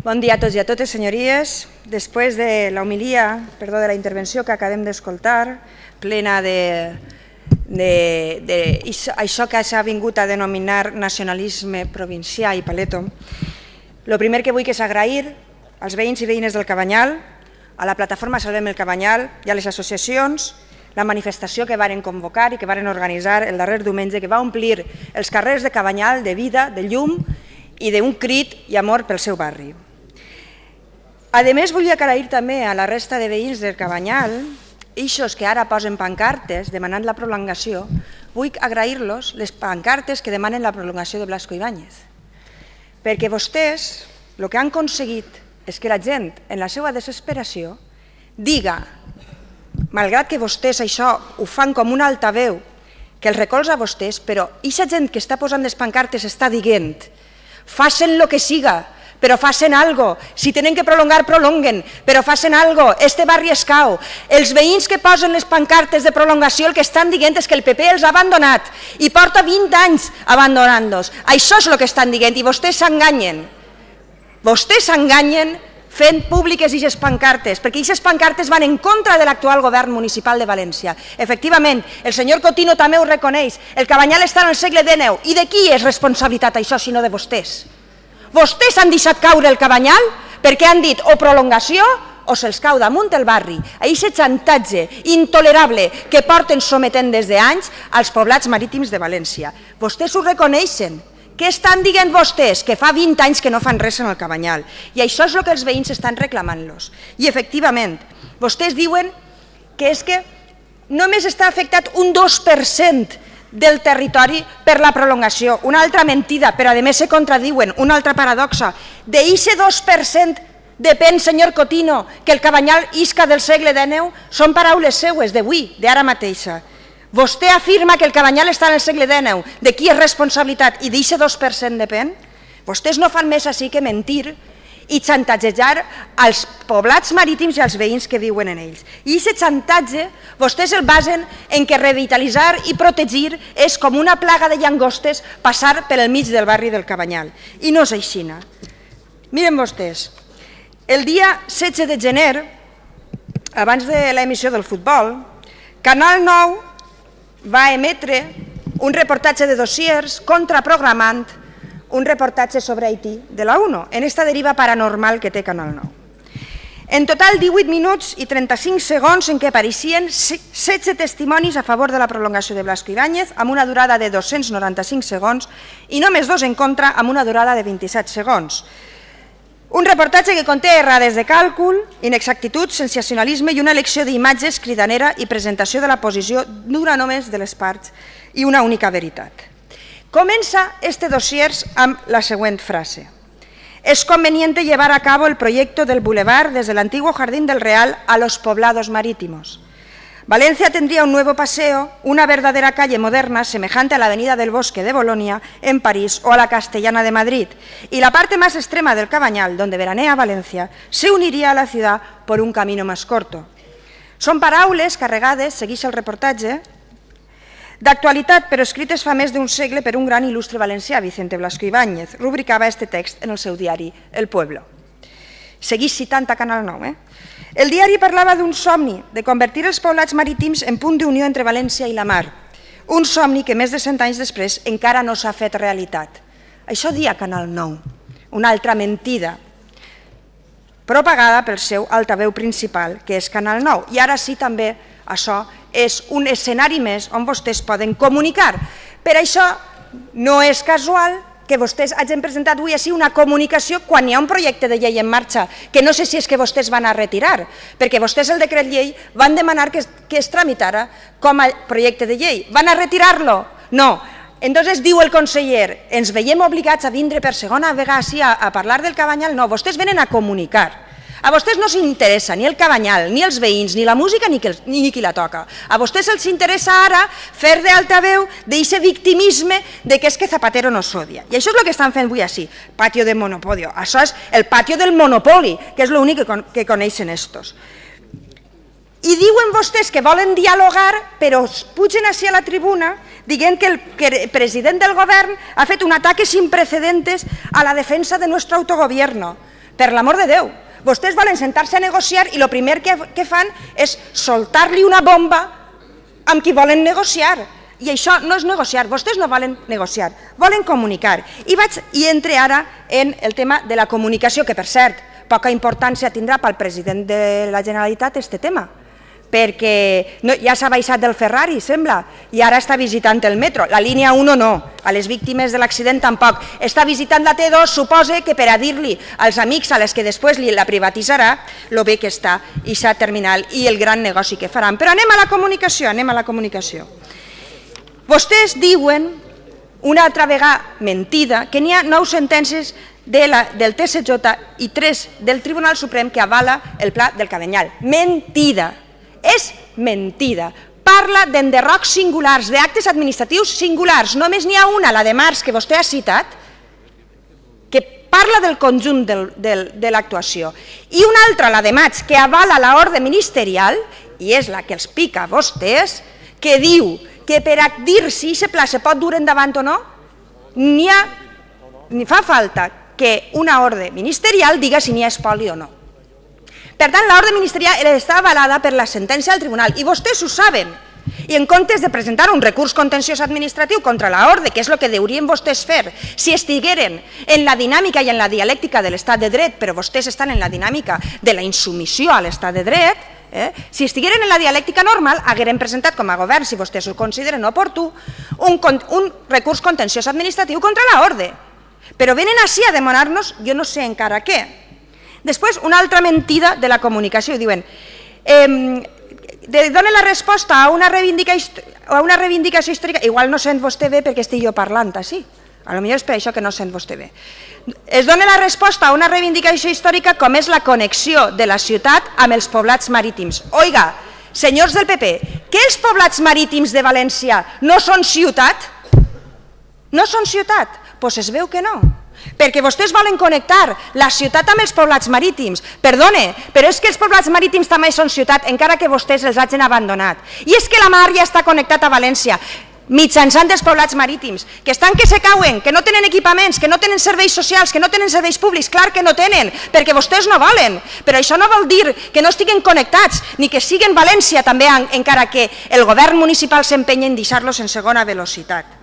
Bon dia a tots i a totes, senyories. Després de la homilia, de la intervenció que acabem d'escoltar, plena d'això que s'ha vingut a denominar nacionalisme provincià i paleto, el primer que vull és agrair als veïns i veïnes del Cabanyal, a la plataforma Salvem el Cabanyal i a les associacions la manifestació que varen convocar i que varen organitzar el darrer diumenge, que va omplir els carrers de Cabanyal de vida, de llum i d'un crit i amor pel seu barri. A més, vull agrair també a la resta de veïns del Cabanyal, ixos que ara posen pancartes demanant la prolongació, vull agrair-los les pancartes que demanen la prolongació de Blasco Ibáñez. Perquè vostès el que han aconseguit és que la gent, en la seva desesperació, diga, malgrat que vostès això ho fan com un altaveu, que els recolza a vostès, però aquesta gent que està posant les pancartes està dient, facin el que siga, però facin algo. Si tenen que prolongar, prolonguen, però facin algo. Este barri es cau. Els veïns que posen les pancartes de prolongació el que estan dient és que el PP els ha abandonat i porta 20 anys abandonant-los. Això és el que estan dient i vostès s'enganyen. Vostès s'enganyen fent públiques aquestes pancartes, perquè aquestes pancartes van en contra de l'actual govern municipal de València. Efectivament, el senyor Cotino també ho reconeix, el Cabanyal està en el segle XIX. I de qui és responsabilitat això, sinó de vostès? Vostès han deixat caure el Cabanyal perquè han dit o prolongació o se'ls cau damunt el barri. Aquest xantatge intolerable que porten sometent des d'anys als poblats marítims de València. Vostès ho reconeixen. Què estan dient vostès? Que fa 20 anys que no fan res en el Cabanyal. I això és el que els veïns estan reclamant-los. I efectivament, vostès diuen que és que només està afectat un 2% del territori per la prolongació. Una altra mentida, però a més se contradiuen, una altra paradoxa. D'eixe 2% depèn, senyor Cotino, que el Cabanyal isca del segle XIX, són paraules seues d'avui, d'ara mateixa. Vostè afirma que el Cabanyal està en el segle XIX, de qui és responsabilitat i d'eixe 2% depèn? Vostès no fan més així que mentir i xantatgejar als poblats marítims i als veïns que viuen en ells. I aquest xantatge vostès el basen en que revitalitzar i protegir és com una plaga de llangostes passar pel mig del barri del Cabanyal. I no és així. Miren vostès, el dia 16 de gener, abans de l'emissió del futbol, Canal 9 va emetre un reportatge de dossiers contraprogramant un reportatge sobre Haití de la UNO, en esta deriva paranormal que té Canal 9. En total, 18 minuts i 35 segons en què apareixien 16 testimonis a favor de la prolongació de Blasco Ibáñez, amb una durada de 295 segons, i només 2 en contra, amb una durada de 27 segons. Un reportatge que conté errades de càlcul, inexactituds, sensacionalisme i una elecció d'imatges cridanera i presentació de la posició d'una només de les parts i una única veritat. Comença este dossier amb la següent frase. Es conveniente llevar a cabo el proyecto del bulevar desde el antiguo Jardín del Real a los poblados marítimos. Valencia tendría un nuevo paseo, una verdadera calle moderna semejante a la Avenida del Bosque de Bolonia en París o a la Castellana de Madrid, y la parte más extrema del Cabanyal, donde veranea Valencia, se uniría a la ciudad por un camino más corto. Són paraules carregades, segueix el reportatge, d'actualitat, però escrites fa més d'un segle per un gran il·lustre valencià, Vicente Blasco Ibáñez, rubricava este text en el seu diari El Pueblo. Segueix citant a Canal 9. El diari parlava d'un somni, de convertir els poblats marítims en punt d'unió entre València i la mar. Un somni que més de 100 anys després encara no s'ha fet realitat. Això dia Canal 9, una altra mentida, propagada pel seu altaveu principal, que és Canal 9. I ara sí també això és un escenari més on vostès poden comunicar. Per això no és casual que vostès hagin presentat avui així una comunicació quan hi ha un projecte de llei en marxa, que no sé si és que vostès van a retirar, perquè vostès el decret llei van demanar que es tramitara com a projecte de llei. Van a retirar-lo? No. Entonces diu el conseller, ens veiem obligats a vindre per segona vegada a parlar del Cabanyal? No, vostès venen a comunicar. A vostès no s'interessa ni el Cabanyal, ni els veïns, ni la música, ni qui la toca. A vostès els interessa ara fer d'altaveu d'aquest victimisme que és que Zapatero nos odia. I això és el que estan fent avui així, patio de monopolio. Això és el patio del monopoli, que és l'únic que coneixen estos. I diuen vostès que volen dialogar, però pugen així a la tribuna dient que el president del govern ha fet un ataque sin precedentes a la defensa de nuestro autogobierno. Per l'amor de Déu. Vostès volen sentar-se a negociar i el primer que fan és soltar-li una bomba amb qui volen negociar. I això no és negociar, vostès no volen negociar, volen comunicar. I entre ara en el tema de la comunicació, que per cert, poca importància tindrà pel president de la Generalitat aquest tema, perquè ja s'ha baixat del Ferrari, sembla, i ara està visitant el metro. La línia 1 no, a les víctimes de l'accident tampoc. Està visitant la T2, suposa que per a dir-li als amics a les que després la privatitzarà, lo bé que està aquesta terminal i el gran negoci que faran. Però anem a la comunicació, Vostès diuen, una altra vegada mentida, que n'hi ha 9 sentències del TSJ i 3 del Tribunal Suprem que avala el pla del Cabanyal. Mentida! És mentida. Parla d'enderrocs singulars, d'actes administratius singulars. Només n'hi ha una, la de març, que vostè ha citat, que parla del conjunt de l'actuació. I una altra, la de maig, que avala l'ordre ministerial, i és la que els pica a vostès, que diu que per a dir si aquest pla se pot dur endavant o no, ni fa falta que una ordre ministerial diga si n'hi ha espoli o no. Per tant, l'ordre ministerial està avalada per la sentència del tribunal i vostès ho saben. I en comptes de presentar un recurs contenciós administratiu contra l'ordre, que és el que haurien vostès fer si estigueren en la dinàmica i en la dialèctica de l'estat de dret, però vostès estan en la dinàmica de la insubmissió a l'estat de dret, si estigueren en la dialèctica normal, hagueren presentat com a govern, si vostès ho consideren oportú, un recurs contenciós administratiu contra l'ordre. Però venen així a demanar-nos, jo no sé encara què. Després, una altra mentida de la comunicació, diuen, dona la resposta a una reivindicació històrica, igual no sent vostè bé perquè estic jo parlant així, potser és per això que no sent vostè bé. Es dona la resposta a una reivindicació històrica com és la connexió de la ciutat amb els poblats marítims. Oiga, senyors del PP, que els poblats marítims de València no són ciutat? No són ciutat? Doncs es veu que no. Perquè vostès volen connectar la ciutat amb els poblats marítims. Perdone, però és que els poblats marítims també són ciutat, encara que vostès els hagin abandonat. I és que la mar ja està connectat a València, mitjançant dels poblats marítims, que estan que se cauen, que no tenen equipaments, que no tenen serveis socials, que no tenen serveis públics, clar que no tenen, perquè vostès no volen. Però això no vol dir que no estiguen connectats, ni que siguin València també, encara que el govern municipal s'empenya en deixar-los en segona velocitat.